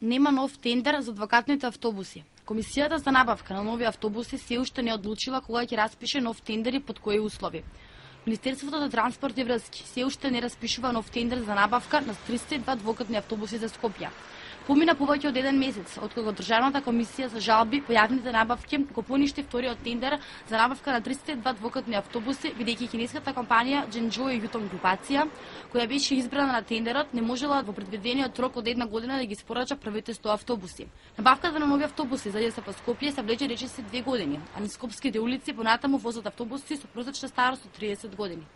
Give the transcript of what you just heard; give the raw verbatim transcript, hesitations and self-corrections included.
нема нов тендер за двокатните автобуси. Комисијата за набавка на нови автобуси се уште не одлучила кога ќе распише нов тендер и под кои услови. Министерството за транспорт и врски се уште не распишува нов тендер за набавка на триста и два двокатни автобуси за Скопје. Помина повеќе од еден месец откога Државната комисија за жалби по јавните набавки го поништи вториот тендер за набавка на триста и два двокатни автобуси, бидејќи кинеската компанија Дженџо и Јутон групација, која беше избрана на тендерот, не можела во предвидениот рок од една година да ги испорача првите сто автобуси. Набавката на нови автобуси за ДСП Скопје се влече речиси две години, а низ скопските улици понатаму возат автобуси со просечна старост од триесет години.